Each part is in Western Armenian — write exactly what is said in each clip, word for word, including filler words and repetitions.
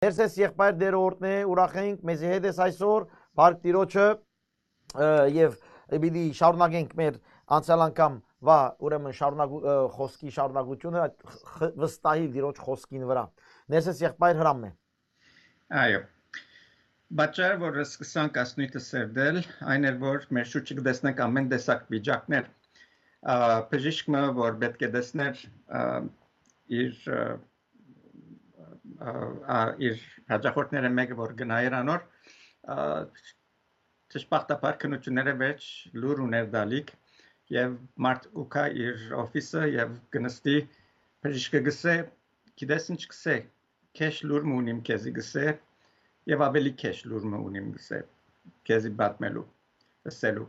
Ներսես եղբայր դերորդն է, ուրախ ենք, մեզի հետ ես այսօր, փառք Տիրոջը, ը, եւ պիտի շարունակենք մեր անցյալ անգամ վա, ուրեմն շարունակու-, ը, խոսքի շարունակությունը, այդ խ-, խ-, վստահի Տիրոջ խոսքին վրա։ Ներսես եղբայր Հրամն է։ Այո։ Պատճառը, որ սկսանք ասնոյթը սերտել, այն էր, որ մեր շուրջը կտեսնենք ամեն տեսակ վիճակներ։ Ա, բժիշկ մը, որ պէտք է տեսներ, ա, իր, ա, ա, ա, իր հաճախորդները մէկը, որ գնայր անոր, ա, դժբախտաբար քննութիւնները վերջ լուր ուներ տալիք, եւ մարդ ուքա իր օֆիսը եւ կնստի, բժիշկը գսե, «Գիտես ինչ գսե, քեշ լուր մը ունիմ քեզի», գսե, եւ ավելի քեշ լուր մը ունիմ գսե, քեզի պատմելու, ըսելու։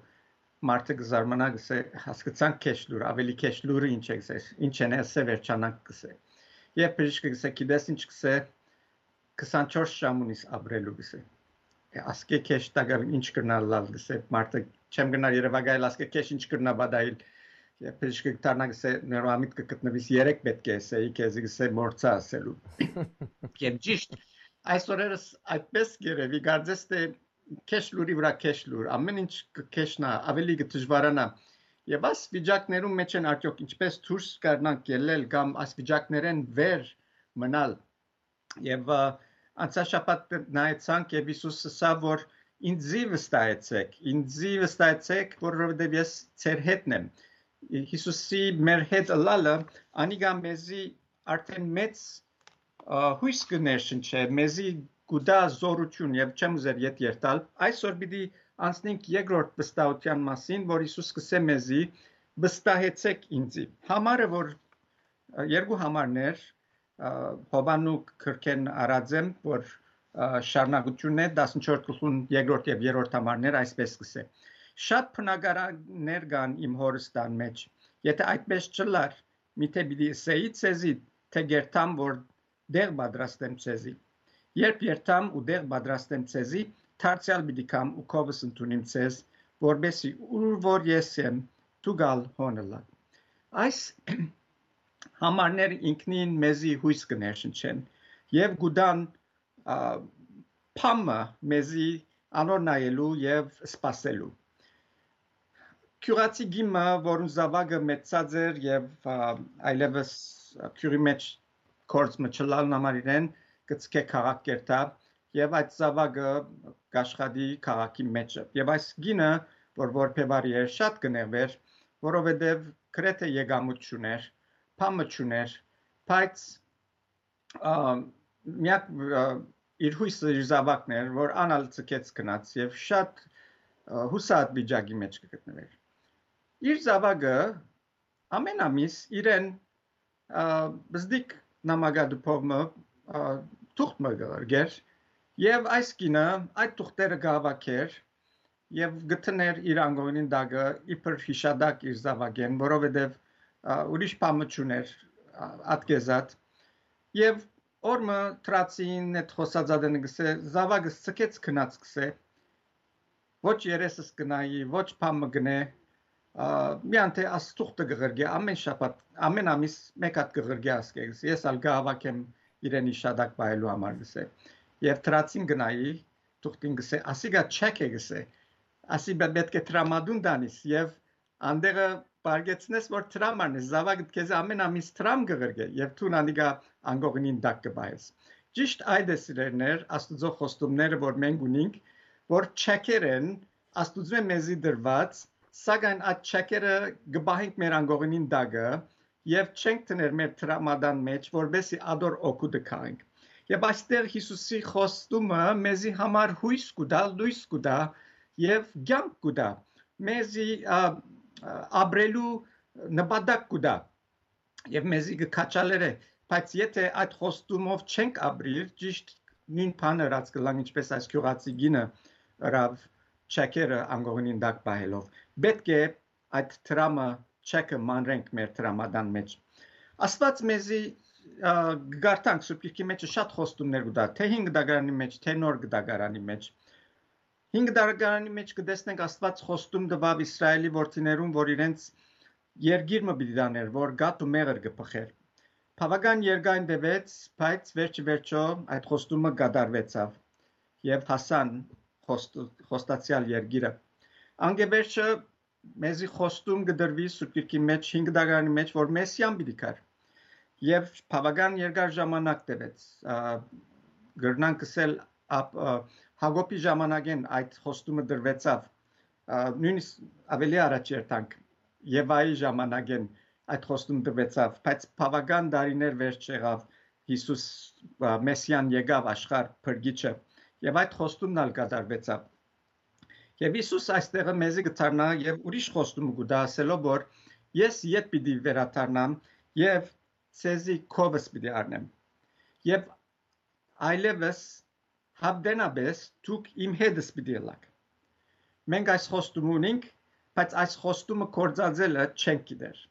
Մարդը կը զարմանայ, գսե, «Հասկցանք քեշ լուր, ավելի քեշ լուրը ինչ է», գսե, «Ինչ են, ըսե, վերջանանք», գսե։ Եւ բժիշկը գսե, «Գիտես ինչ», գսե, «քսանչորս ժամ ունիս ապրելու», գսե։ «Է, ասկէ քեշ տակաւ ինչ կրնար լալ», գսե, մարդը, «Չեմ կրնար երեւակայել, ասկէ քեշ ինչ կրնայ պատահիլ»։ Եւ բժիշկը կդառնայ, գսե, «Ներուամիտ կը գտնուիս, երեկ պէտք է ըսեի քեզի», գսե, «Մոռցայ ըսելու»։ Եւ ճիշտ, այս օրերս այդպես կ'երեւի, կարծես թէ քեշ լուրի վրայ քեշ լուր, ամեն ինչ կը քեշնայ, ավելի կը դժուարանայ։ Եւ այս վիճակներուն մէջ են արդեօք ինչպես դուրս կարնանք ելլել կամ այս վիճակներէն վեր մնալ։ Եւ, ը, անցյալ շաբաթ նայեցանք եւ Յիսուս ըսաւ, որ «Ինծի վստահեցէք, ինծի վստահեցէք, որովհետեւ ես ձեր հետն եմ»։ Յիսուսի մեր հետ ըլլալը, անիկա մեզի արդեն մեծ, ը, յոյս կը ներշնչէ, մեզի կու տայ զօրութիւն, եւ չեմ ուզեր ետ երթալ։ Այսօր պիտի անցնենք երկրորդ վստահութեան մասին, որ Յիսուս կ'ըսէ մեզի. «Վստահեցէք ինծի»։ Համարը, որ, ը, երկու համարներ, ը, Յովհաննու գրքէն առած եմ, որ, ը, շարունակութիւնն է, տասնչորս գլխուն երկրորդ եւ երրորդ համարներ, այսպես կ'ըսէ. «Շատ բնակարաններ կան իմ Հօրս տան մէջ։ Եթէ այդպես չըլլար, միթէ պիտի ըսէի ձեզի, թէ կ'երթամ, որ տեղ պատրաստեմ ձեզի։ Երբ երթամ ու տեղ պատրաստեմ ձեզի, դարձեալ պիտի գամ ու քովս ընդունիմ ձեզ, որպեսզի ուր որ ես եմ, դուք ալ հոն ըլլաք»։ Այս համարները ինքնին մեզի յոյս կը ներշնչեն եւ կու տան, ա, բան մը մեզի անոր նայելու եւ սպասելու։ Գիւղացի կին մը, որուն զաւակը մեծցած էր եւ, ա, այլեւս գիւղի մէջ գործ մը չըլլալուն համար իրեն կը ձգէ քաղաք կ'երթայ եւ այդ զաւակը կ'աշխատի քաղաքի մէջը։ Եւ այս կինը, որ որբեւարի էր, շատ կը նեղուէր, որովհետեւ գրեթէ եկամուտ չունէր, բան մը չունէր, բայց, ա, միակ, ա, իր յոյսը իր զաւակն էր, որ ան ալ ձգեց գնաց եւ շատ, ա, յուսահատ վիճակի մէջ կը գտնուէր։ Իր զաւակը ամեն ամիս իրեն, ա, բզդիկ նամակատուփով մը, ա, թուղթ մը կը ղրկէր եւ այս կինը այդ թուղթերը կը հաւաքէր եւ կը դնէր իր անկողնին տակը իբր յիշատակ իր զաւակէն, որովհետեւ, ա, ուրիշ բան մը չունէր, ա, ատկեզատ։ Եւ օր մը դրացին, այդ խօսած ատենը գսէ, զաւակս ձգեց գնաց գսէ, ոչ երեսս կը նայի, ոչ բան մը կ'ընէ, ա, միայն թէ աս թուղթը կը ղրկէ, ամեն շաբաթ, ամեն ամիս մէկ հատ կը ղրկէ, ասկէ գսէ, ես ալ կը հաւաքեմ իրեն յիշատակ պահելու համար գսէ։ Եւ դրացին կը նայի, թուղթին գսէ, ասիկա չեք է գսէ, ասի պէ-, պէտք է դրամատուն տանիս եւ անտեղը պարգեցնես, որ դրամ առնես, զաւակդ քեզի ամեն ամիս դրամ կը ղրկէ եւ դուն անիկա անկողնին տակ կը պահես։ Ճիշտ այդ է, սիրելիներ, Աստուծոյ խոստումները, որ մենք ունինք, որ չեքեր են Աստուծմէ մեզի տրուած, սակայն այդ չեքերը կը պահենք մեր անկողնին տակը եւ չենք դներ մեր դրամատան մէջ, որպեսզի ատոր օգուտը քաղենք։ Եւ այստեղ Յիսուսի խոստումը մեզի համար յոյս կու տայ, լոյս կու տայ եւ կյանք կու տայ, մեզի, ա, ա, ապրելու նպատակ կու տայ եւ մեզի կը քաջալերէ, բայց եթէ այդ խոստումով չենք ապրիր, ճիշտ նոյն բանը ըրած կ'ըլլանք, ինչպես այս գիւղացի կինը ըրաւ չեքերը անկողնին տակ պահելով։ Պէտք է այդ դրամը, չեքը մանրենք մեր դրամատան մէջ։ Աստուած մեզի, ա, կը կարդանք Սուրբ Գիրքի մէջ շատ խոստումներ կու տայ, թէ Հին Կտակարանի մէջ, թէ Նոր Կտակարանի մէջ։ Հին Կտակարանի մէջ կը տեսնենք Աստուած խոստում տուաւ Իսրայէլի որդիներուն, որ իրենց երկիր մը պիտի տանէր, որ կաթ ու մեղր կը բխէր։ Բաւական երկայն տեւեց, բայց վերջը վերջոյ այդ խոստումը կատարուեցաւ եւ հասան խոստ-, խոստացեալ երկիրը։ Անկէ վերջը մեզի խոստում կը տրուի Սուրբ Գիրքի մէջ, հինգ դարանի մէջ, որ Մեսիան պիտի գար։ Եւ բաւական երկար ժամանակ տեւեց։ Ա, կրնանք ըսել, ա, Հակոբի ժամանակէն այդ խոստումը տրուեցաւ, ա, նոյնիսկ աւելի առաջ երթանք, Եվայի ժամանակէն այդ խոստում տրուեցաւ, բայց բաւական տարիներ վերջ եղաւ Յիսուս, ա, Մեսիան եկաւ աշխարհ փրկիչը, եւ այդ խոստումն ալ կատարուեցաւ։ Եւ Յիսուս այստեղը մեզի կդառնայ եւ ուրիշ խոստումը կու տայ, ասելով որ ես ետ պիտի վերադառնամ եւ ձեզի քովս պիտի առնեմ։ Եւ այլեւս հապտենապէս դուք իմ հետս պիտի ըլլաք։ Մենք այս խոստումը ունինք, բայց այս խոստումը գործածելը չենք գիտեր։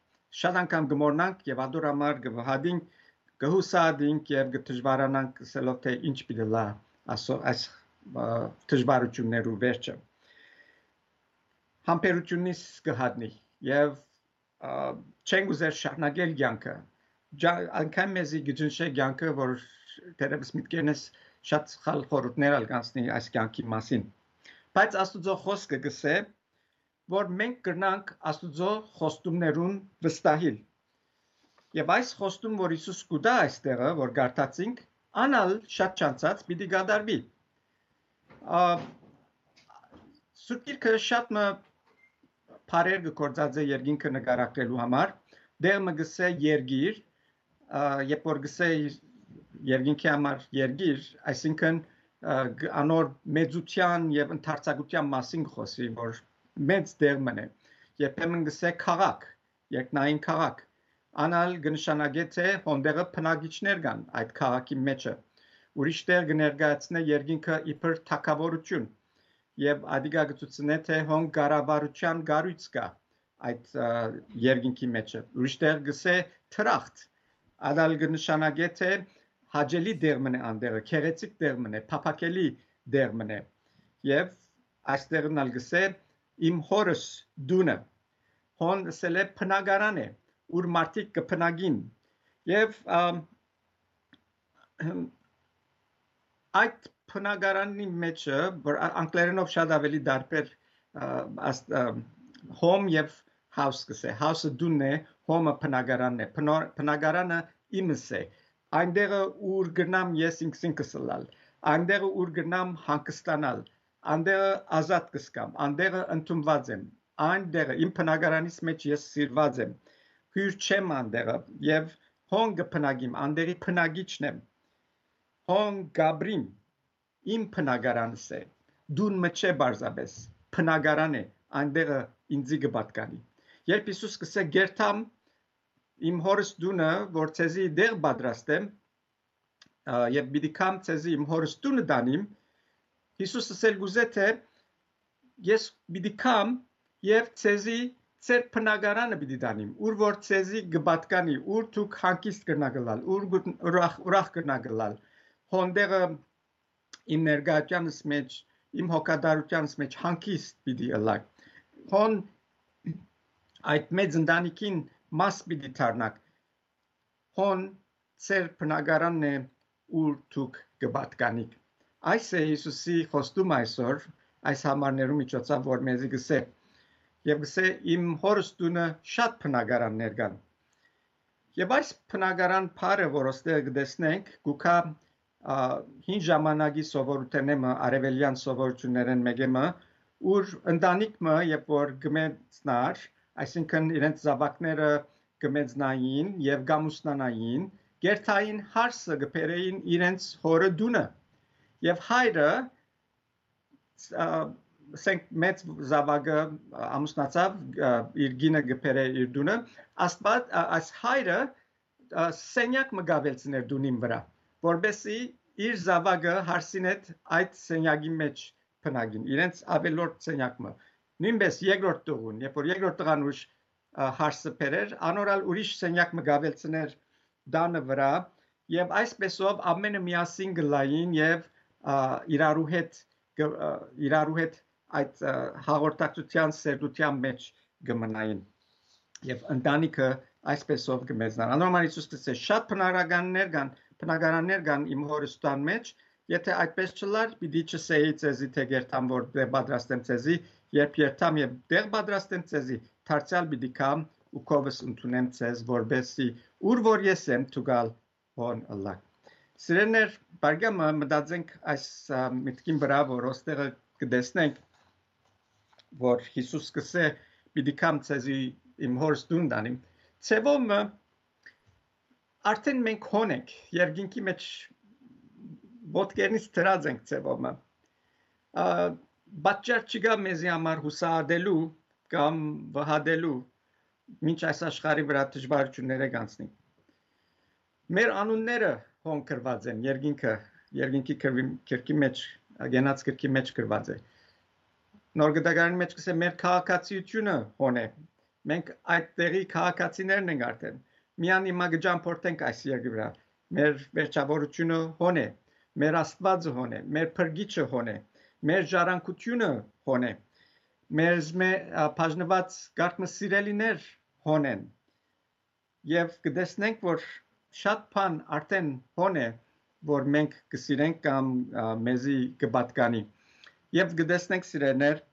Շատ անգամ կը մոռնանք եւ ատոր համար կը վհատինք, կը յուսահատինք եւ կը դժուարանանք ըսելով, թէ ինչ պիտի ըլլայ ասո-, այս, ը, դժուարութիւններու վերջը։ Համբերութիւննիս կը հատնի եւ, ը, չենք ուզեր շարունակել կեանքը։ Ջա-, անկան մեզի կը ճնշէ կեանքը, որ թերեւս միտքերնս շատ սխալ խորհուրդներ ալ կանցնի այս կեանքի մասին։ Բայց Աստուծոյ խօսքը կ'ըսէ, որ մենք կրնանք Աստուծոյ խոստումներուն վստահիլ։ Եւ այս խոստում, որ Յիսուս կու տայ այստեղը, որ կարդացինք, ան ալ շատ չանցած պիտի կատարուի։ Ա, Սուրբ Գիրքը շատ մը բառեր կը գործածէ երկինքը նկարագրելու համար։ Տեղ մը կ'ըսէ երկիր, ա, երբ որ կ'ըսէ երկինքի համար երկիր, այսինքն, ա, գ-, անոր մեծութեան եւ ընդարձակութեան մասին կը խօսի, որ մեծ տեղ մըն է։ Երբեմն կ'ըսէ քաղաք, երկնային քաղաք։ Ան ալ կը նշանակէ, թէ հոն տեղը բնակիչներ կան այդ քաղաքի մէջը։ Ուրիշ տեղ կը ներկայացնէ երկինքը իբր թագաւորութիւն եւ ադիկա կը ցուցնէ, թէ հոն կառավարութեան կառոյց կայ այդ, ա, երկինքի մէջը։ Ուրիշ տեղ կ'ըսէ դրախտ, ան ալ կը նշանակէ, թէ հաճելի տեղ մըն է ան տեղը, գեղեցիկ տեղ մըն է, փափաքելի տեղ մըն է։ Եւ այստեղն ալ կ'ըսէ իմ հօրս տունը, հոն ըսել է բնակարան է, ուր մարդիկ կը բնակին։ Եւ, ա, այդ բնակարանի մէջը, որ ա-, անգլերենով շատ աւելի տարբեր, ա, աս-, ա, home եւ house կ'ըսէ։ House-ը տունն է, home-ը բնակարանն է, բնո-, բնակարանը իմս է։ Այնտեղը ուր կրնամ ես ինքզինքս ըլլալ, այնտեղը ուր կրնամ հանգստանալ, այնտեղը ազատ կ'սկամ, այնտեղը ընդունուած եմ, այնտեղը իմ բնակարանիս մէջ ես սիրուած եմ, հիւր չեմ այնտեղը եւ հոն կը բնակիմ, այնտեղի բնակիչն եմ, հոն կ'ապրիմ, իմ բնակարանս է, տուն մը չէ պարզապէս, բնակարան է, այնտեղը ինձի կը պատկանի։ Երբ Յիսուս կ'ըսէ, «Կ'երթամ իմ հօրս տունը, որ ձեզի տեղ պատրաստեմ, ա, եւ պիտի գամ ձեզի իմ հօրս տունը տանիմ», Յիսուս ըսել կ'ուզէ, թէ, «Ես պիտի գամ եւ ձեզի ձեր բնակարանը պիտի տանիմ, ուր որ ձեզի կը պատկանի, ուր դուք հանգիստ կրնաք ըլլալ, ուր գուտ-, ուրախ, ուրախ կրնաք ըլլալ, հոն տեղը իմ ներկայութեանս մէջ, իմ հոգատարութեանս մէջ հանգիստ պիտի ըլլաք, հոն այդ մեծ ընտանիքին մաս պիտի դառնաք, հոն ձեր բնակարանն է, ուր դուք կը պատկանիք»։ Այս է Յիսուսի խոստումը այսօր, այս համարներու միջոցով, որ մեզի կ'ըսէ, եւ կ'ըսէ, «Իմ հօրս տունը շատ բնակարաններ կան»։ Եւ այս բնակարան բառը, որ ոստեղ կը տեսնենք, կու գայ, ա, հին ժամանակի սովորութենէ մը, արեւելեան սովորութիւններէն մէկէ մը, ուր ընտանիք մը, երբ որ կը մեծնար, այսինքն իրենց զաւակները կը մեծնային եւ կ'ամուսնանային, կ'երթային հարսը կը բերէին իրենց հօրը տունը։ Եւ հայրը, ա, ասենք, մեծ զաւակը, ա, ամուսնացաւ, ա, իր կինը կը բերէ իր տունը, Աստուած, ա, այս հայրը, ա, սենեակ մը կ'աւելցնէր տունին վրայ, որպեսզի իր զաւակը հարսին հետ այդ սենեակի մէջ բնակին, իրենց աւելորդ սենեակ մը։ Նոյնպէս երկրորդ տղուն, երբ որ երկրորդ տղան ուրիշ, ա, հարսը բերէր, անոր ալ ուրիշ սենեակ մը կ'աւելցնէր տանը վրայ, եւ այսպէսով ամէնքը միասին կ'ըլլային եւ, ա, իրարու հետ կը, ա, իրարու հետ այդ, ա, հաղորդակցութեան սերտութեան մէջ կը մնային եւ ընտանիքը այսպէսով կը մեծնան։ Անոր համար Յիսուս կ'ըսէ. «Շատ բնակարաններ կան, բնակարաններ կան իմ Հօրս տան մէջ, եթէ այդպէս չըլլար, պիտի չըսէի ձեզի, թէ կ'երթամ որ տեղ պատրաստեմ ձեզի, երբ երթամ եւ տեղ պատրաստեմ ձեզի, դարձեալ պիտի գամ ու քովս ընդունեմ ձեզ, որպէսզի ուր որ ես եմ, դուք ալ հոն ըլլաք»։ Սիրելիներ, բարգամը մտածենք այս, ա, մտքին վրայ, որ ոստեղը կը տեսնենք, որ Յիսուս կ'ըսէ. «Պիտի գամ ձեզի իմ Հօրս տուն տանիմ»։ Ձեւով մը արդեն մենք հոն ենք, երկինքի մէջ ոտքերնից դրած ենք ձեւով մը։ Ա, պատճառ չկայ մեզի համար յուսահատելու կամ վհատելու, մինչ այս աշխարհի վրայ դժուարութիւններէ կ'անցնենք։ Մեր անունները հոն գրուած են, երկինքը, երկինքի գրքի, գրքի մէջ, կենաց գրքի մէջ գրուած է։ Նոր Գտակարանի մէջ կ'ըսէ. «Մեր քաղաքացիությունը հոն է»։ Մենք այդ տեղի քաղաքացիներն ենք արդեն։ Միան հիմա կը ճամփորդենք այս երկրի վրայ։ Մեր վերջավորությունը հոն է, մեր Աստուածը հոն է, մեր Փրկիչը հոն է, մեր ժառանգությունը հոն է, մեր զմե-, ա, բաժնուած կարգ մը սիրելիներ հոն են։ Եւ կը տեսնենք, որ շատ բան արդեն հոն է, որ մենք կը սիրենք կամ, ա, մեզի կը պատկանի։ Եւ կը տեսնենք, սիրելիներ,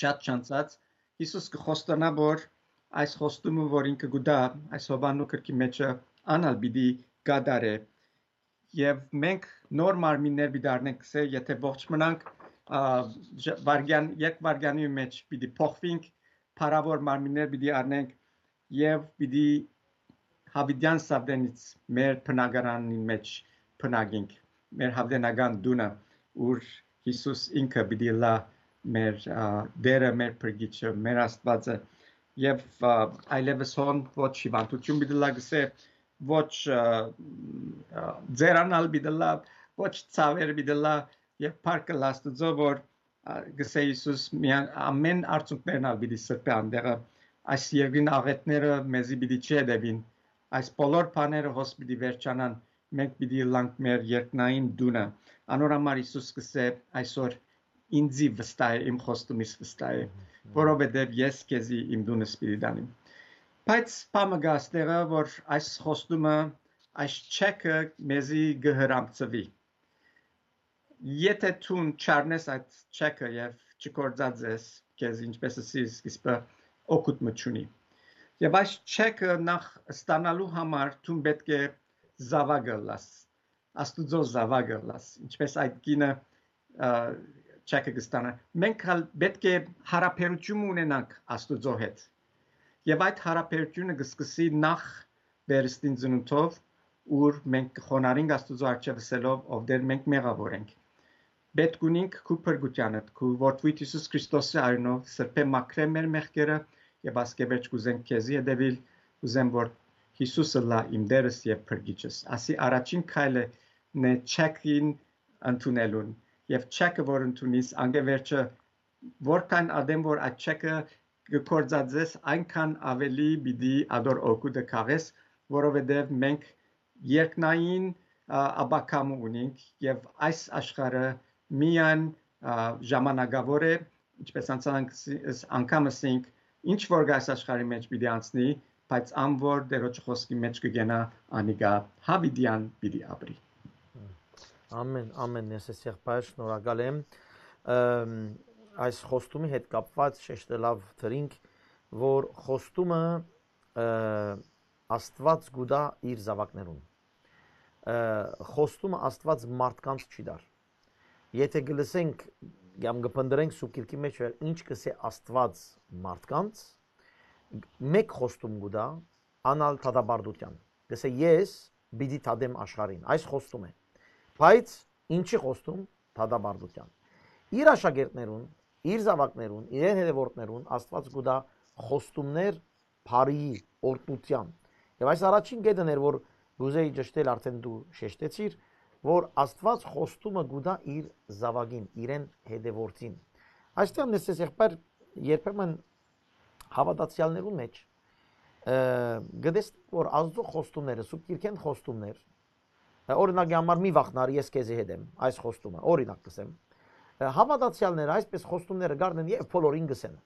շատ չանցած, Յիսուս կը խոստանայ, որ այս խոստումը, որ ինքը կու տայ այս Յովհաննու գրքի մէջը, ան ալ պիտի կատարէ։ Եւ մենք նոր մարմիններ պիտի առնենք, կ'ըսէ, եթէ ողջ մնանք, ա, ժ-, վարգյան, երկվարգյանի մէջ պիտի փոխվենք, փառաւոր մարմիններ պիտի առնենք եւ պիտի յաւիտեան սաւտենից մեր բնակարանին մէջ բնակենք, մեր յաւիտենական տունը, ուր Յիսուս ինքը պիտի ըլլայ մեր, ա, Տէրը, մեր Փրկիչը, մեր Աստուածը, եւ, ա, այլեւս հոն ոչ հիւանդութիւն պիտի ըլլայ, կ'ըսէ, ոչ, ա, ա, ձեռան ալ պիտի ըլլայ, ոչ ցաւեր պիտի ըլլայ, եւ փառք ըլլայ Աստուծոյ, որ, ա, կ'ըսէ Յիսուս, միան-, ամէն արցունքներն ալ պիտի սրբէ անտեղը, այս երկրին աղէտները մեզի պիտի չհետեւին, այս բոլոր բաները հոս պիտի վերջանան, մենք պիտի ըլլանք մեր երկնային տունը։ Անոր համար Յիսուս կ'ըսէ այսօր. «Ինծի վստահ է, իմ խոստումիս վստահ է, որովհետեւ ես քեզի իմ տունս պիտի տանիմ»։ Բայց բան մը կայ այստեղը, որ այս խոստումը, այս չեքը մեզի կը հրամցուի։ Եթէ դուն չառնես այդ չեքը եւ չգործածես քեզ, ինչպէս ըսի սկիզբը, օգուտ մը չունի։ Եւ այս չեքը նախ ստանալու համար դուն պէտք է զաւակը ըլլաս, Աստուծոյ զաւակը ըլլաս, ինչպէս այդ կինը, ը, չեքը կը ստանայ։ Մենք ալ պէտք է յարաբերութիւն ունենանք Աստուծոյ հետ։ Եւ այդ յարաբերութիւնը կը սկսի նախ վերստին ծնունդով, ուր մենք կը խոնարհենք Աստուծոյ առջեւ ըսելով. «Ով Տէր, մենք մեղաւոր ենք»։ Պէտք ունինք քու փրկութեանդ, քու որդւոյդ Յիսուս Քրիստոսի արիւնով սրբէ մաքրէ մեր մեղքերը եւ ասկէ վերջ կ'ուզենք քեզի հետեւիլ, կ'ուզեմ որ Յիսուս ըլլայ իմ Տէրս եւ Փրկիչս։ Ասի առաջին քայլը նե չեքին ընդունելուն, եւ չեքը որ ընդունիս, անկէ վերջը, որքան ատեն որ այդ չեքը կը գործածես, այնքան աւելի պիտի ատոր օգուտը քաղես, որովհետեւ մենք երկնային, ա, ապագայ մը ունինք եւ այս աշխարհը միայն, ա, ժամանակաւոր է, ինչպես անցան անգամ ըսինք, ինչ որ կայ այս աշխարհի մէջ պիտի անցնի, բայց ան որ Տէրոջը խօսքի մէջ կը կենայ, անիկա յաւիտեան պիտի ապրի։ Ամէն, ամէն, Նեսես եղբայր, շնորհակալ եմ։ Ըմ, այս խոստումի հետ կապված շեշտելաւ դրինք, որ խոստումը, ը, Աստուած կու տայ իր զաւակներուն։ Ը, խոստումը Աստուած մարդկանց չի տար։ Եթէ կը լսենք, կամ կը փնտռենք Սուրբ Գիրքի մէջ, ինչ կ'ըսէ Աստուած մարդկանց, մէկ խոստում կու տայ, ան ալ դատապարտութեան։ Կ'ըսէ. «Ես պիտի դատեմ աշխարհին»։ Այս խոստում է։ Բայց ինչի՞ խոստում, դատապարտութեան։ Իր աշակերտներուն, իր զաւակներուն, իրեն հետեւորդներուն Աստուած կու տայ խոստումներ բարիի, օրհնութեան։ Եւ այս առաջին կետն էր, որ կ'ուզեի ճշտել, արդեն դու շեշտեցիր, որ Աստուած խոստումը կու տայ իր զաւակին, իրեն հետեւորդին։ Այստեղ, Նեսես եղբայր, երբեմն հաւատացեալներուն մէջ, ը, կը տեսնենք, որ Աստուծոյ խոստումները, Սուրբ Գիրքէն խոստումներ, ը, օրինակի համար, «Մի վախնար, ես քեզի հետ եմ», այս խոստումը, օրինակ կ'ըսեմ, ը, հաւատացեալները այսպես խոստումները կ'առնեն եւ բոլորին կ'ըսեն։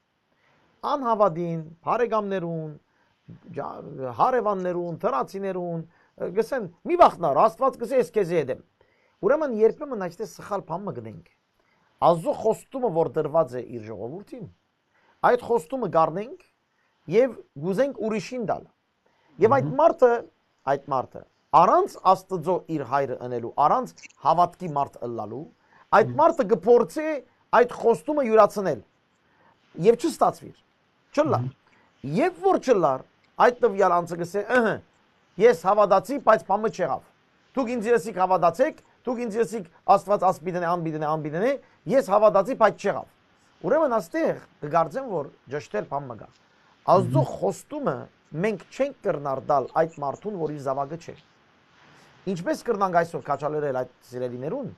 Անհաւատին, բարեկամներուն, ջա-, հարեւաններուն, թրացիներուն, ը, կ'ըսեն, «Մի վախնար, Աստուած կ'ըսէ, ես քեզի հետ եմ»։ Ուրեմն երբեմն այստեղ սխալ բան մը կ'ընենք։ Աստուծոյ խոստումը, որ տրուած է իր ժողովուրդին, այդ խոստումը կ'առնենք եւ կ'ուզենք ուրիշին տալ։ Եւ այդ Մհմ։ մարդը, այդ մարդը, առանց Աստուծոյ իր հայրը ընելու, առանց հաւատքի մարդ ըլլալու, այդ Մհմ։ մարդը կը փորձէ այդ խոստումը իւրացնել եւ չստացուիր։ Չըլլար։ Մհմ։ Երբ որ չըլլար, այդ տվյալ անձը կ'ըսէ, «Ըհը, ես հաւատացի, բայց բան մը չեղաւ։ Դուք ինձի ըսիք հաւատացէք, դուք ինձի ըսիք Աստուած աս պիտի ընէ, ան պիտի ընէ, ան պիտի ընէ, ես հաւատացի, բայց չեղաւ»։ Ուրեմն աստեղ կը կարծեմ, որ ճշդել բան մը կայ։ Աստուծոյ Մհմ։ խոստումը մենք չենք կրնար տալ այդ մարդուն, որ իր զաւակը չէ։ Ինչպէս կրնանք այսօր քաջալերել այդ սիրելիներուն,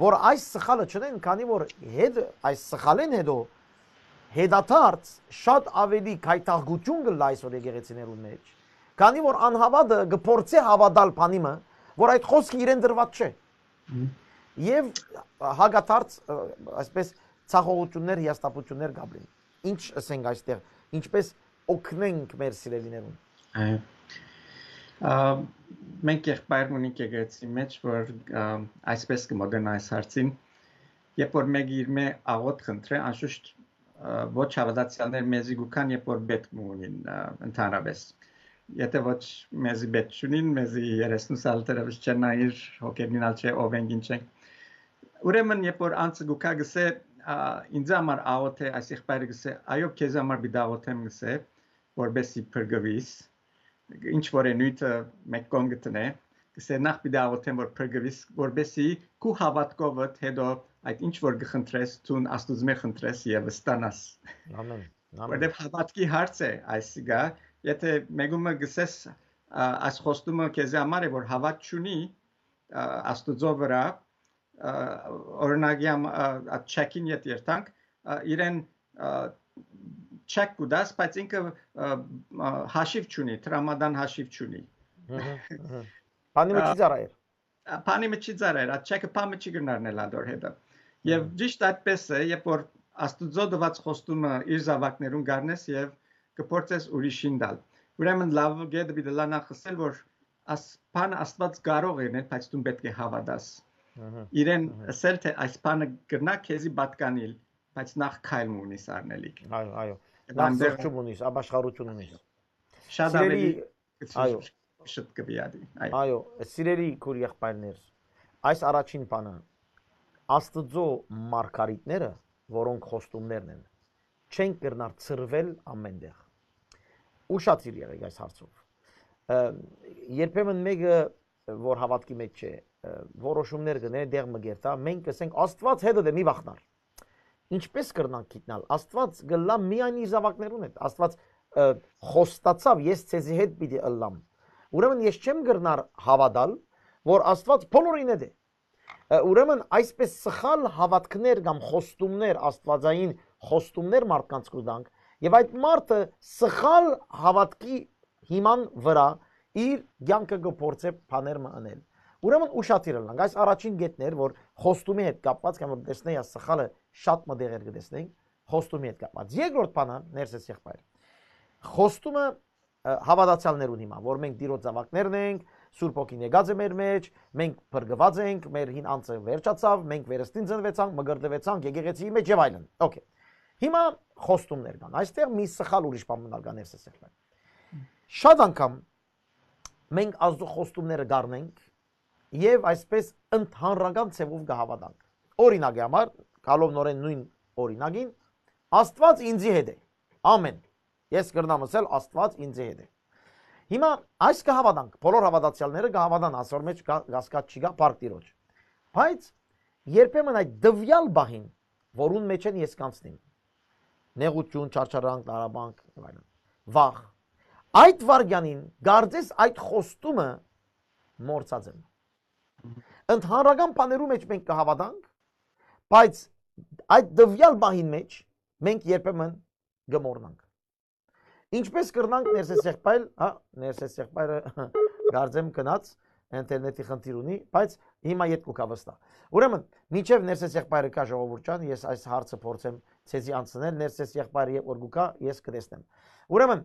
որ այս սխալը չընեն, քանի որ հետ, այս սխալէն հետո հետադարձ շատ աւելի գայթակղութիւն կ'ըլլայ այսօր եկեղեցիներուն մէջ, քանի որ անհաւատը կը փորձէ հաւատալ բանի մը, որ այդ խօսքը իրեն տրուած չէ։ Մհմ։ Եւ հակադարձ, ը, այսպես, ցախողութիւններ, հիասթափութիւններ կ'ապրին։ Ինչ ըսենք այստեղ, ինչպէս օգնենք մեր սիրելիներուն։ Այո։ Ա, մենք եղբայր ունենք եկեղեցի մեջ, որ, ա, այսպես կը մոտենայ այս հարցին։ Երբ որ մեկը իրմէ աղօթք խնդրէ, անշուշտ, ա, ոչ հաւատացեալներ մեզի կու գան, երբ որ պէտք մը ունին, ա, ընդհանրապէս։ Եթէ ոչ մեզի պէտք չունին, մեզի երեսնուս ալ դեռեւս չեն նայիր, հոգերնին ալ չէ, ով ենք, ինչ ենք։ Ուրեմն, երբ որ անձը կու գայ, կ'ըսէ, ա, ինձ համար աղօթէ, այս եղբայրը կ'ըսէ, «Այո, քեզ համար պիտի աղօթեմ», կ'ըսէ, «որպեսզի փրկուիս»։ Ինչ որ է նիւթը մեկ կողմ կը դնէ, կ'ըսէ, «Նախ պիտի աղօթեմ, որ փրկուիս, որպեսզի քու հաւատքովդ հետո այդ ինչ որ կը խնդրես, դուն Աստուծմէ խնդրես եւ ստանաս»։ Ամեն, ամեն։ Որտեւ հաւատքի հարց է այսիկա, եթէ մեկումը կ'ըսես, ա, այս խոստումը քեզի համար է, որ հաւատ չունի, ա, Աստուծոյ վրայ, ա, օրինակի համ-, ա, ա, չեքին ետ երթանք, ա, իրեն, ա, չեք կու տաս, բայց ինքը, ա, ա, հաշիվ չունի, տրամադան հաշիվ չունի։ Մհմ, մհմ։ Բանի մը Ա, չի ծառայեր։ ա, բանի մը չի ծառայեր, ա, չեքը բան մը չի կրնար նել ադոր հետը։ Եւ Մհմ։ ճիշտ այդպես է, երբ որ Աստուծոյ տուած խոստումը իր զաւակներուն գարնես եւ կը փորձես ուրիշին տալ։ Ուրեմն լաւ կետը պիտի լանա խսել, որ աս-, բանը Աստուած կարող է ընել, բայց դուն պէտք է հաւատաս։ Մհմ, Իրեն մհմ։ ըսել, թէ այս բանը կրնայ քեզի պատկանիլ, բայց նախ քայլ մը ունիս առնելիք։ Այո, այո։ Եւ Նախ այնտեղ զղջում ունիս, ապաշխարութիուն ունիս։ շատ Սիրելի, ավելի այո։ շուտ կը վիադի։ Այո։ Այո, սիրելի քուր եղբայրներ, այս առաջին բանը, Աստուծոյ մարգարիտները, որոնք խոստումներն են, չեն կրնար ցրվել ամեն տեղ։ Ուշադիր եղեք այս հարցով։ Ը, երբեմն մեկը, որ հաւատքի մեջ չէ, ը, որոշումներ կ'ընէ, դեղ մը կերթայ, մենք կ'ըսենք, «Աստուած հետդ է, մի վախնար»։ Ինչպէս կրնանք գիտնալ։ Աստուած կ'ըլլայ միայն իր զաւակներուն հետ։ Աստուած, ը, խոստացաւ, «Ես ձեզի հետ պիտի ըլլամ»։ Ուրեմն ես չեմ կրնար հաւատալ, որ Աստուած բոլորին հետ է։ Ը, ուրեմն այսպես սխալ հաւատքներ կամ խոստումներ, աստուածային խոստումներ մարդկանց կու տանք, եւ այդ մարդը սխալ հաւատքի հիման վրայ իր կեանքը կը փորձէ բաներ մը ընել։ Ուրեմն ուշադիր ըլլանք։ Այս առաջին կետն էր, որ խոստումի հետ կապված, կամ որ տեսնեի, այս սխալը շատ մը դեղեր կը տեսնենք, խոստումի հետ կապված։ Երկրորդ բանը, ներսես եղբայր, խոստումը, ը, հաւատացեալներուն հիմա, որ մենք Տիրոջ զաւակներն ենք, Սուրբ Հոգին եկած է մեր մեջ, մենք փրկուած ենք, մեր հին անձը վերջացաւ, մենք վերստին ծնուեցանք, մկրտուեցանք եկեղեցիի մեջ եւ այլն։ Okay։ Հիմա խոստումներ կան։ Այստեղ մի սխալ ուրիշ բան մնալ կա, ներսես եղբայր։ Շատ անգամ մենք Աստուծոյ խոստումները կառնենք եւ այսպես ընդհանրական ձեւով կհաւատանք։ Օրինակի համար, գալով նորեն նոյն օրինակին, «Աստուած ինծի հետ է»։ Ամեն։ Ես կրնամ ըսել, «Աստուած ինծի հետ է»։ Հիմա այս կհաւատանք, բոլոր հաւատացեալները կհաւատան, ասոր մեջ կա, կասկած չի գա, փառք Տիրոջ։ Բայց երբեմն այդ տվյալ բահին, որուն մեջ են ես կանցնիմ, նեղութիւն, չարչարանք, տառապանք, եւ այլն, վախ, այդ վարքյանին կարծես այդ խոստումը մոռցած եմ։ Ընդհանրական բաներու մեջ մենք կհաւատանք, բայց այդ տվյալ բահին մեջ մենք երբեմն կմոռնանք։ Ինչպէս կրնանք, ներսես եղբայր, հա, ներսես եղբայրը կարծեմ գնաց, ինտերնետի խնդիր ունի, բայց հիմա ետ կու գայ վստահ։ Ուրեմն, մինչեւ ներսես եղբայրը գայ, ժողովուրդ ջան, ես այս հարցը փորձեմ ձեզի անցնել, ներսես եղբայրը երբ որ կու գայ, ես կտեսնեմ։ Ուրեմն,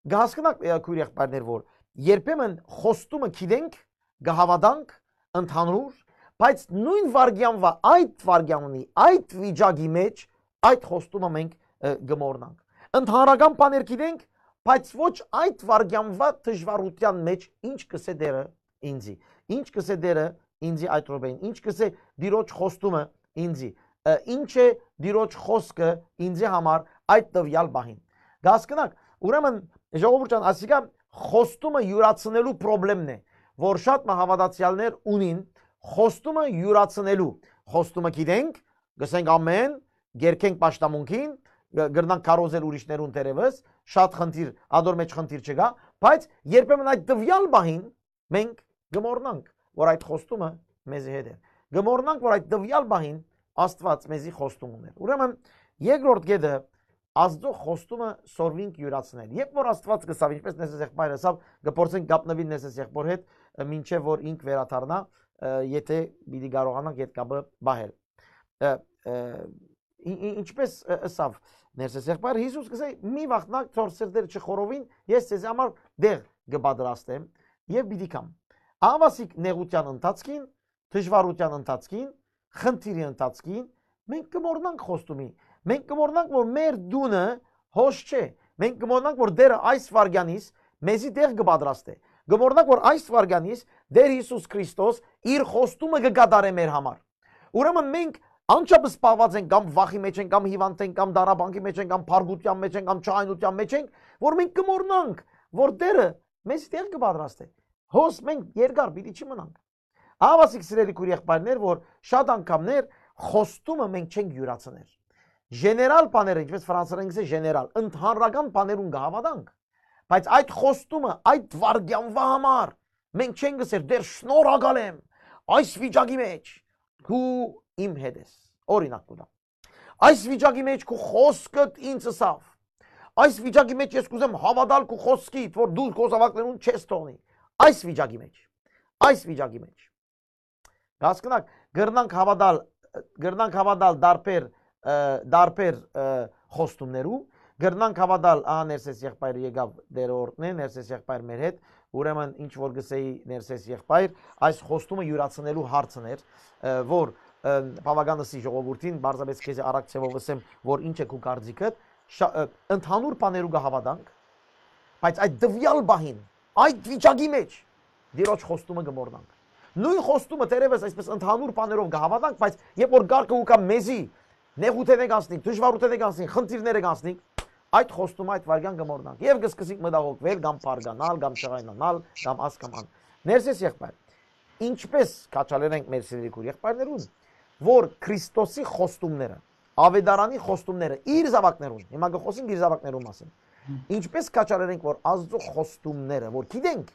կը հասկնաք, ը, քոյր եղբայրներ, որ երբեմն խոստումը գիտենք, կը հաւատանք, ընդհանուր, բայց նոյն վայրկեանվա, այդ վայրկեանի, այդ վիճակի մեջ, այդ խոստումը մենք, ը, կը մոռնանք։ Ընդհանրական բաներ գիտենք, բայց ոչ այդ վայրկեանվա դժուարութեան մեջ ինչ կսե Տերը ինձի, ինչ կսե Տերը ինձի այդ րոպեին, ինչ կսե Տիրոջ խոստումը ինձի, ը, ինչ է Տիրոջ խոսքը ինձի համար այդ տվեալ պահին։ Կ'հասկնաք, ուրեմն, ժողովուրդ ջան, ասիկա խոստումը յուրացնելու պրոբլեմն է, որ շատ մը հաւատացեալներ ունին, խոստումը յուրացնելու, խոստումը գիտենք, կ'ըսենք ամեն, կ'երգենք պաշտամունքին, կ-, կրնանք քարոզել ուրիշներուն թերեւս, շատ խնդիր, ադոր մեջ խնդիր չկայ, բայց երբեմն այդ տվեալ պահին մենք կը մոռնանք, որ այդ խոստումը մեզի հետ էր։ Կը մոռնանք, որ այդ տվեալ պահին Աստուած մեզի խոստում ուներ։ Ուրեմն, երկրորդ կետը, Աստուծոյ խոստումը սորվինք յուրացնել։ Երբ որ Աստուած կ'ըսաւ, ինչպես Ներսես եղբայրը ըսաւ, կը փորձենք կապնուիլ Ներսես եղբոր հետ, ը, մինչեւ որ ինք վերադառնայ, ը, եթէ պիտի կարողանանք այդ կապը պահել։ Ը, ը, ի-, ի-, ինչպես, ը, ըսաւ Ներսես եղբայրը, Յիսուս կ'ըսէ. «Մի վախնաք, թող սրտերը չխորովին, ես ձեզի համար տեղ կը պատրաստեմ եւ պիտի գամ»։ Ահա ասիկ նեղութեան ընթացքին, դժուարութեան ընթացքին, խնդիրի ընթացքին մենք կը մոռնանք խոստումի։ Մենք կը մոռնանք, որ մեր տունը հոս չէ։ Մենք կը մոռնանք, որ Տերը այս վայրկեանիս մեզի տեղ կը պատրաստէ։ Կը մոռնանք, որ այս վայրկեանիս Տեր Յիսուս Քրիստոս իր խոստումը կը կատարէ մեր համար։ Ուրեմն մենք անչափ զբաղուած ենք կամ վախի մեջ ենք, կամ հիվանդ ենք, կամ դարաբանքի մեջ ենք, կամ փառքութեան մեջ ենք, կամ չայնութեան մեջ ենք, որ մենք կը մոռնանք, որ Տերը մեզի տեղ կը պատրաստէ։ Հոս մենք երկար պիտի չմնանք։ Ահա ասիկ, սիրելի քոյր եղբայրներ, որ շատ անգամներ խոստումը մենք չենք յուրացներ։ Ժեներալ բաները, ինչպես ֆրանսերեն կ'ըսէ ժեներալ, ընդհանրական բաներուն կը հաւատանք, բայց այդ խոստումը, այդ վայրկեանվա համար մենք չենք ըսեր. «Տեր, շնորհակալ եմ այս վիճակի մեջ դու իմ հետ ես»։ Օրինակ կու տամ. «Այս վիճակի մեջ քու խոսքդ ինձ ըսաւ։ Այս վիճակի մեջ ես կ'ուզեմ հաւատալ քու խոսքիդ, որ դու քո զաւակներուն չես թողնի»։ Այս վիճակի մեջ, այս վիճակի մեջ։ Կ'հասկնաք, կրնանք հաւատալ, կրնանք հաւատալ դարբեր, ը, դարբեր, ը, խոստումներու, կրնանք հաւատալ, ահա Ներսես եղբայրը եկաւ, Տերը օրհնէ, Ներսես եղբայր մեր հետ, ուրեմն ինչ որ կ'ըսէի Ներսես եղբայր, այս խոստումը յուրացնելու հարցն էր, ը, որ, ը, բաւական ըսի ժողովուրդին, պարզապէս քեզի արագ ձեւով ըսեմ, որ ինչ է քու կարծիքդ, շա-, ը, ընդհանուր բաներու կը հաւատանք, բայց այդ տվեալ պահին, այդ վիճակի մեջ, Տիրոջ խոստումը կը մոռնանք։ Նոյն խոստումը թերեւս այսպես ընդհանուր բաներով կը հաւատանք, բայց երբ որ կարգը ու կամ մեզի նեղութենէ կանցնենք, դժուարութենէ կանցնենք, խնդիրները կանցնենք, այդ խոստումը այդ վայրկեան կը մոռնանք։ Եվ կսկսենք մտահոգվել կամ փառկանալ, կամ չղայնանալ, կամ աս կամ ան։ Ներսես եղբայր, ինչպես քաջալերենք մեր սիրելի քուր եղբայրներուն, որ Քրիստոսի խոստումները, Ավետարանի խոստումները, իր զաւակներուն, հիմա կը խոսենք իր զաւակներուն մասին, ինչպես քաջալերենք, որ Աստծո խոստումները, որ գիտենք,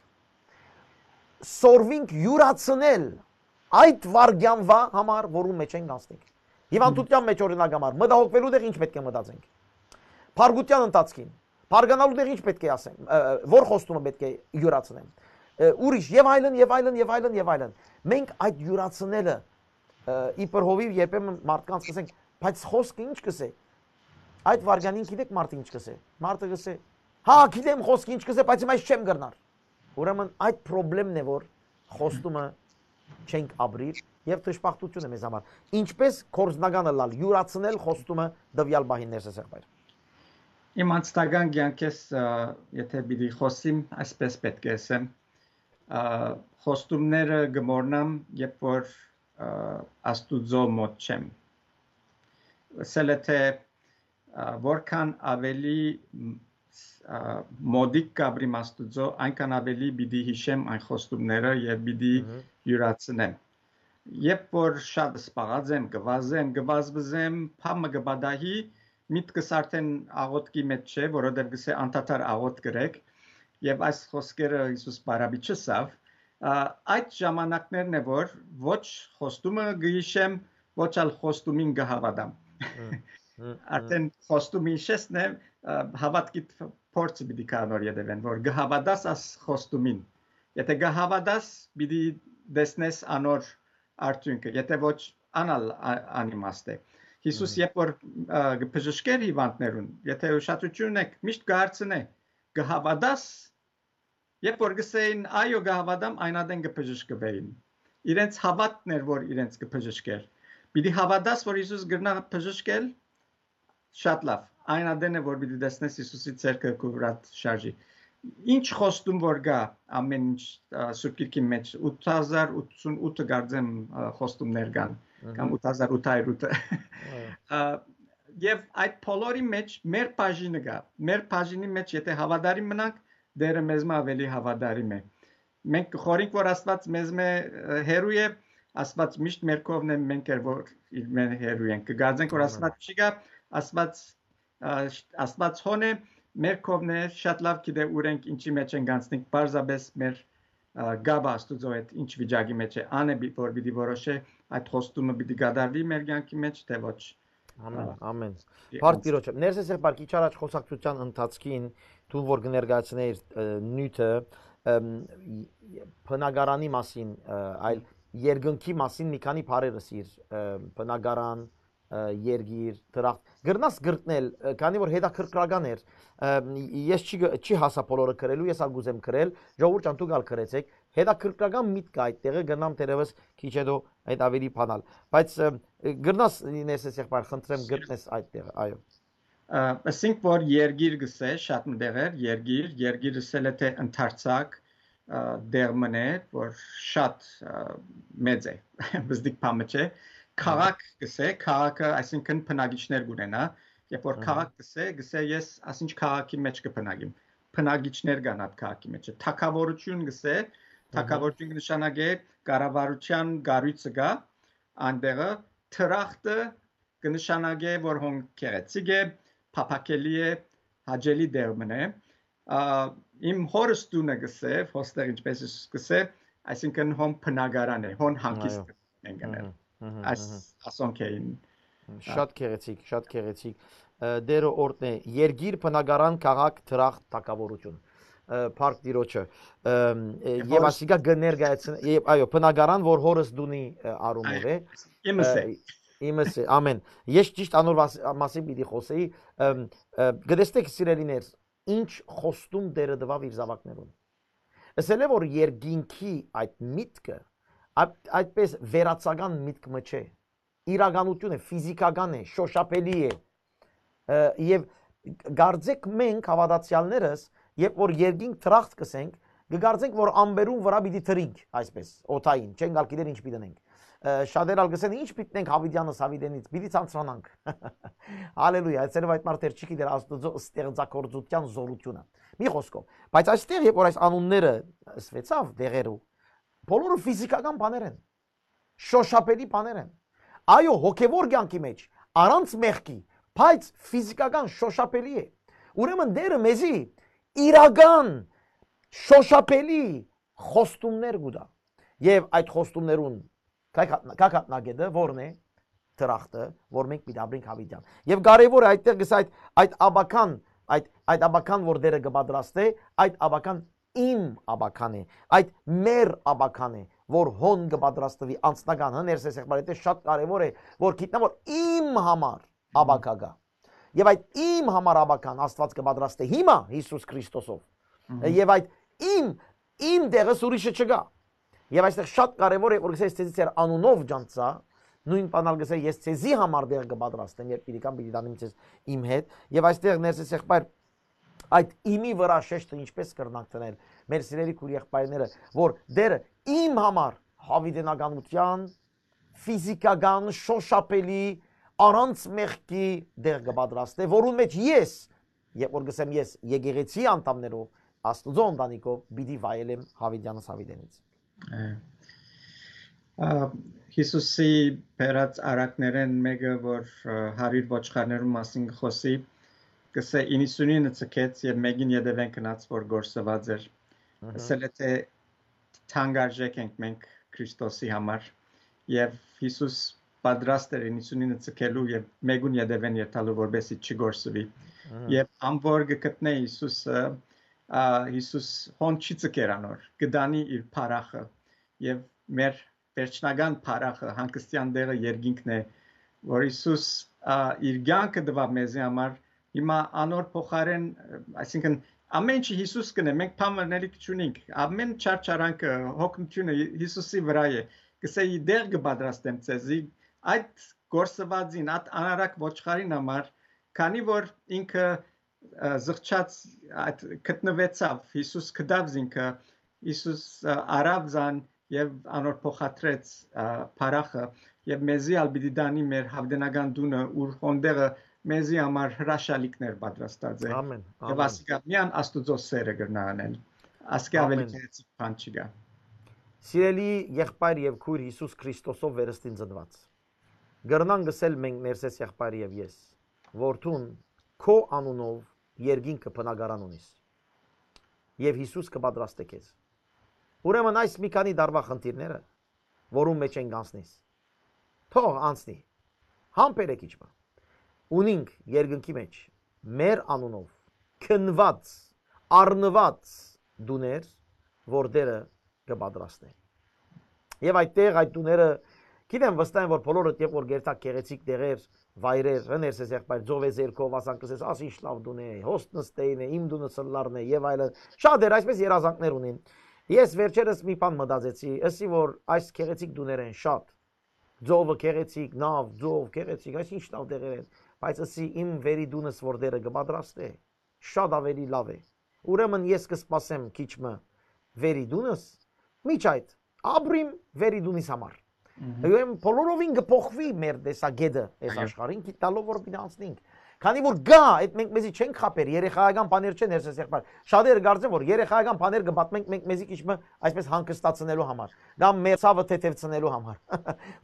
սորվինք յուրացնել այդ վայրկեանվա համար, որուն մեջ ենք անցնենք։ Հիվանդության մեջ, օրինակ համար, մտահոգվելու տեղ ինչ պէտք է մտածենք։ Փառքության ընթացքին, փառկանալու տեղ ինչ պէտք է ասեմ, ը, ը, որ խոստումը պէտք է յուրացնեմ։ Ը, ուրիշ, եւ այլն, եւ այլն, եւ այլն, եւ այլն։ Մենք այդ յուրացնելը, ը, իբր հովիվ երբեմն մարդկանց կ'ըսենք, «Բայց խոսքը ինչ կ'ըսէ»։ Այդ վայրկեանին գիտեք մարդը ինչ կ'ըսէ։ Մարդը կ'ըսէ. «Հա, գիտեմ խոսքը ինչ կ'ըսէ, բայց հիմա ես չեմ կրնար»։ Ուրեմն այդ պրոբլեմն է, որ խոստումը չենք ապրիր, եւ դժբախտություն է մեզ համար։ Ինչպես գործնականը լալ, յուրացնել խոստումը տվյալ պահին, Ներսես եղբայր։ Իմ անձնական կեանքէս, ը, եթե պիտի խոսիմ, այսպես պէտք է ասեմ, ը, խոստումները կը մոռնամ, երբ որ, ը, Աստուծոյ մօտ չեմ։ Ասել է, թէ, ը, որքան ավելի, մ, ս-, ը, մօտիկ կ'ապրիմ Աստուծոյ, այնքան ավելի պիտի յիշեմ այն խոստումները եւ պիտի Մհմ։ յուրացնեմ։ Երբ որ շատ սպաղած եմ, կը վազեմ, կը վազվզեմ, փամը կը պատահի, միտքս արդեն աղոթքի մեջ չէ, որովհետեւ կ'ըսէ, «Անդադար աղոթք կրեք», եւ այս խոսքերը Յիսուս Պարապիչը ըսաւ, ա, այդ ժամանակներն է, որ ոչ խոստումը կը յիշեմ, ոչ ալ խոստումին կը հաւատամ։ Հմ, հմ, հմ։ Արդեն խոստումը յիշեցնէ, ա, հաւատքի փ-, փորձը պիտի գայ անոր ետեւէն, որ կը հաւատաս աս խոստումին։ Եթե կը հաւատաս, պիտի տեսնես անոր արդիւնքը, եթե ոչ, անալ ա-, անիմաստ է։ Յիսուս Մհմ։ երբ որ, ա, կը բժշկէր հիվանդներուն, եթե ուշադրություն ունեք, միշտ կը հարցնէ, կը հաւատաս, երբ որ կ'ըսէին, «Այո, կը հաւատամ», այն ատեն կը բժշկուէին։ Իրենց հաւատն էր, որ իրենց կը բժշկէր։ Պիտի հաւատաս, որ Յիսուս կրնայ բժշկել, շատ լաւ։ Այն ատեն է, որ պիտի տեսնես Յիսուսի ձեռքը քու վրադ շարժի։ Ինչ խոստում որ կայ, ամէն ինչ, ա, Սուրբ Գիրքին մէջ, ութ հազար ութսուն ութը կարծեմ, ա, խոստումներ կան, Ըհը։ կամ ութ հազար ութ հարիւր ութը։ Ահա։ Ա, եւ այդ բոլորի մէջ մեր բաժինը կայ։ Մեր բաժինի մէջ, եթե հաւատարիմ մնանք, Տէրը մեզմէ աւելի հաւատարիմ է։ Մենք կը խորհենք, որ Աստուած մեզմէ, ը, հեռու է, Աստուած միշտ մեր կողմն է, մենք էլ որ իրմէ հեռու ենք։ Կը կարծենք, որ Ամեն։ Աստուած չի գայ, Աստուած, ա, Աստուած հոն է, մեր կողմն է, շատ լաւ գիտէ ուր ենք, ինչի մէջ ենք անցնենք, պարզապէս մեր, ա, կապը Աստուծոյ հետ ինչ վիճակի մէջ է, ան է պի-, որ պիտի որոշէ, այդ խոստումը պիտի կատարուի մեր կյանքի մէջ, թէ ոչ։ Ամեն, Ա, ամեն։ Դի Փառք անց- Տիրոջը։ Ներսես եղբայր, քիչ առաջ խոսակցության ընթացքին դու որ կներկայացնեիր, ը, նիւթը, ըմ, ի-, բնակարանի մասին, ը, այլ երկնքի մասին մի քանի բառեր ըսիր, ը, բնակարան, ը, երկիր, դրախտ։ Կրնաս կրկնել, ը, քանի որ հետաքրքրական էր, ը, ես չի գ-, չի հասա բոլորը գրելու, ես ալ կուզեմ գրել, ժողովուրդ ջան, դուք ալ գրեցեք, հետաքրքրական միտք կա այդ տեղը, կրնամ թերևս քիչ հետո այդ ավելի բանալ։ Բայց, ը, կրնաս, Ներսես եղբայր, խնդրեմ, գտնես այդ տեղը, այո։ Ը, ըսինք, որ երկիր գսե, շատ մը տեղեր, երկիր, երկիր ըսել է, թէ ընդարձակ, ը, դեղ մն է, որ շատ, ը, մեծ է, բզդիկ բան մը չէ։ Քաղաք գսե, քաղաքը, այսինքն բնակիչներ կունենայ, երբ որ Ահա։ քաղաք գսե, գսե ես ասինչ քաղաքի մէջ կը բնակիմ, բնակիչներ կան այդ քաղաքի մէջ։ Թագավորություն գսե, Ահա։ թագավորություն կը նշանակէ կառավարության կառոյցը գայ, այնտեղը թրախտը կը նշանակէ, որ հոն գեղեցիկ է, փափաքելի է, հաճելի դեղ մն է։ Ա, իմ հորս տունը գսե, հոստեղ ինչպես Յիսուս գսե, այսինքն հոն բնակարան է, հոն հանգիստ Այո։ ենք գնել։ Ահա, ահա, Այս, ահա։ ասոնք էին, Շատ գեղեցիկ, շատ գեղեցիկ։ Ը, Տերը օրհնէ, երկիր, բնակարան, քաղաք, դրախտ, թագավորություն։ Ը, Փառք Տիրոջը։ Ըմ, ը, Եվ և հորս- ասիկա կը ներկայացնէ, և, այո, բնակարան, որ հորս տունի, ը, առումով Այո, է։ իմս է։ Ը, իմս է, ամեն։ Ես ճիշտ անոր վաս-, մասին պիտի խոսեի, ըմ, ը, կտեսնեք, սիրելիներ, ինչ խոստում Տերը տուաւ իր զաւակներուն։ Ըսել է, որ երկինքի այդ միտքը, այդ, այդպես վերացական միտք մը չէ, իրականություն է, ֆիզիկական է, շոշափելի է։ Ը, և կարծեք մենք, հաւատացեալներս, երբ որ երկինք թրախտ կսենք, կկարծենք, որ ամպերուն վրայ պիտի թռինք, այսպես, օդային, չենք ալ գիտեր ինչ պիտի ընենք։ Ը, շատեր ալ կսեն, «Ինչ պիտի ընենք Յաւիտեանս Յաւիտենից, պիտի ցանցրանանք»։ Հալելույա, այսերով այդ մարդը չի գիտեր Աստուծոյ ստեղծագործութեան զօրութիւնը։ Մի խոսքով, բայց այստեղ, երբ որ այս անունները ըսուեցաւ դեղերու, բոլորը ֆիզիկական բաներ են, շոշափելի բաներ են։ Այո, հոգեվոր կյանքի մեջ, առանց մեղքի, բայց ֆիզիկական շոշափելի է։ Ուրեմն Տերը մեզի իրական շոշափելի խոստումներ կու տայ։ Եվ այդ խոստումներուն կա-, կա-, կա-, կաթնակետը որն է, դրախտը, որ մենք պիտի ապրենք Յաւիտեան։ Եվ կարևոր է այդտեղ գսա այդ, այդ աբական, այդ, այդ աբական, որ Տերը կը պատրաստէ, այդ աբական իմ աբական է, այդ մեր աբական է, որ հոն կը պատրաստվի անձնական, հը, ներսես եղբայր, դա շատ կարևոր է, որ գիտնա, որ իմ համար աբակա կայ։ Եվ այդ իմ համար աբական Աստուած կը պատրաստէ հիմա Յիսուս Քրիստոսով։ Մհմ։ Եվ այդ իմ, իմ տեղս ուրիշը չկայ։ Եվ այստեղ շատ կարևոր է, որ գսես, «Ես ձեզի ձեր անունով ջանցայ», նոյն բան ալ գսե, «Ես ձեզի համար տեղ կը պատրաստեմ, երբ իրիկան պիտի տանեմ ձեզ իմ հետ»։ Եվ այստեղ, ներսես եղբայր, այդ իմի վրայ շեշտը ինչպես կրնանք դնել, մեր սիրելի քուր եղբայրները, որ Տերը իմ համար յաւիտենականութեան, ֆիզիկական, շոշափելի, առանց մեղքի տեղ կը պատրաստէ, որուն մեջ ես, երբ որ գսեմ ես, եկեղեցի անդամներով, Աստուծոյ ընտանիքով պիտի վայելեմ յաւիտեանս յաւիտենից։ Ա, ա, Յիսուսի բերած առակներէն մէկը, որ, ա, հարիւր ոչխարներուն մասին կը խօսի, կսէ, «Իննսունինը ձգեց եւ մէկին ետեւէն գնաց, որ կորսուած էր»։ Ըհը։ Ըսել է, թէ թանկարժեք ենք մենք Քրիստոսի համար, եւ Յիսուս պատրաստ էր իննսունինը ձգելու եւ մէկուն ետեւէն երթալու, որպեսզի չկորսուի։ Ըհը։ Եւ ան որ կը գտնէ Յիսուսը, ա, Յիսուս հոն չի ձգեր անոր, կը տանի իր փառախը, եւ մեր վերջնական փառախը, հանգստեան տեղը երկինքն է, որ Յիսուս, ա, իր կյանքը տուաւ մեզի համար, հիմա անոր փոխարեն, այսինքն Ամեն ինչը Յիսուս կ'ընէ, մենք բան մըն ըլլալք չունինք։ Ամեն չարչարանքը, հոգնութիւնը Յիսուսի վրայ է։ Կ'ըսէ, «Ի դեղ կը պատրաստեմ ձեզի», այդ կորսուածին, այդ անարակ ոչխարին համար, քանի որ ինքը, ը, զղջաց, այդ գտնուեցաւ, Յիսուս գտաւ զինքը, Յիսուս, ը, առաւ զան եւ անոր փոխադրեց, ը, փառախը, եւ մեզի ալ պիտի տանի մեր յաւիտենական տունը, ուր հոն տեղը մեզի համար հրաշալիքներ պատրաստած է։ Ամեն, Եւ ամեն։ Ասիկա միան Աստուծոյ սէրը կրնայ անեն։ Ասիկա ավելի Ամեն։ Գեղեցիկ բան չկայ։ Սիրելի եղբայր եւ քույր Յիսուս Քրիստոսով վերստին ծնուած, կրնանք ըսել մենք, ներսես եղբայր եւ ես, որ դուն քո անունով երկինքը բնակարան ունիս եւ Յիսուս կը պատրաստէ քեզ։ Ուրեմն այս մի քանի տարվա խնդիրները, որուն մէջ ենք անցնիս, թող անցնի։ Համբերեք իջմը։ Ունինք երկնքի մէջ մեր անունով քննուած, առնուած տուներ, որ Տերը կը պատրաստէ։ Եւ այդտեղ այդ տուները, գիտեմ, վստահ եմ, որ բոլորդ, երբ որ գերտաք գեղեցիկ տեղեր, վայրեր, հներ սես եղբայր, ծովեզերքով, ասանք, կ'ըսես, «Աս ինչ լաւ տուն է, հոստ նստեին է, իմ տունը սլլարն է» եւ այլն։ Շատ էր, այսպես երազանքներ ունին։ Ես վերջերս մի բան մտածեցի, ըսի, որ այս գեղեցիկ տուներ են շատ։ Ծովը գեղեցիկ, նաւ, ծով գեղեցիկ, այս ինչ լաւ տեղեր են, բայց ըսի, իմ վերի տունս որ Տերը կը պատրաստէ, շատ ավելի լաւ է։ Ուրեմն ես կը սպասեմ քիչ մը վերի տունս, միջ այդ, ապրիմ վերի տունիս համար։ Մհմ։ Ուրեմն բոլորովին կը փոխուի մեր տեսակետը այս Այո։ Աշխարհին, գիտնալով որ պիտի անցնենք։ Քանի որ գայ, այդ մենք մեզի չենք խաբեր, երեխայական բաներ չեն, հերսես եղբայր։ Շատերը կարծեն, որ երեխայական բաներ կը պատմենք մենք մեզի քիչ մը այսպես հանգստացնելու համար, կամ մեր ցաւը թեթևցնելու համար։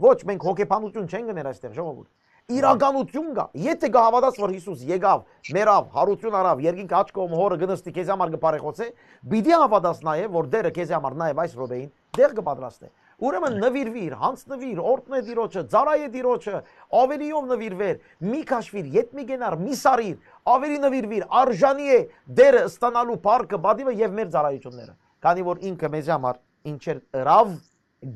Ոչ, մենք հոգեբանություն չենք գներ այստեղ, ժողովուրդ։ Իրականություն կայ։ Եթե կը հաւատաս, որ Յիսուս եկաւ, մեռաւ, յարութիւն առաւ, երկինքը աջ կողմը հորը կը նստի, քեզի համար կը բարեխոսէ, պիտի հաւատաս նաեւ, որ Տերը քեզի համար նաեւ այս րոպեին տեղ կը պատրաստէ։ Ուրեմն նուիրուիր, յանձնուիր, օրհնէ Տիրոջը, ծառայէ Տիրոջը, ավելիով նուիրուեր, մի քաշվիր, ետ մի կենար, մի սառիր, ավելի նուիրուիր, արժանի է Տերը ստանալու փառքը, պատիվը եւ մեր ծառայությունները, քանի որ ինքը մեզի համար ինչեր ըրաւ,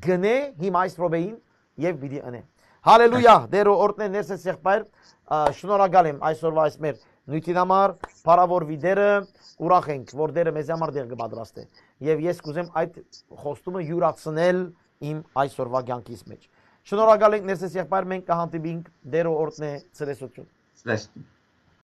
կ'ընէ հիմա այս րոպեին եւ պիտի ընէ։ Հալելույա, Տերը օրհնէ, ներսես եղբայր, ա, շնորհակալ եմ այսօրվա այս մեր նիւթին համար, փառաւորուի Տերը, ուրախ ենք, որ Տերը մեզի համար տեղ կը պատրաստէ։ Եւ ես կ'ուզեմ այդ խոստումը յուրացնել իմ այսօրվա կյանքիս մէջ։ Շնորհակալ ենք, ներսես եղբայր, մենք կը հանդիպինք, Տերը օրհնէ, ցտեսութիւն։ Ցտեսություն։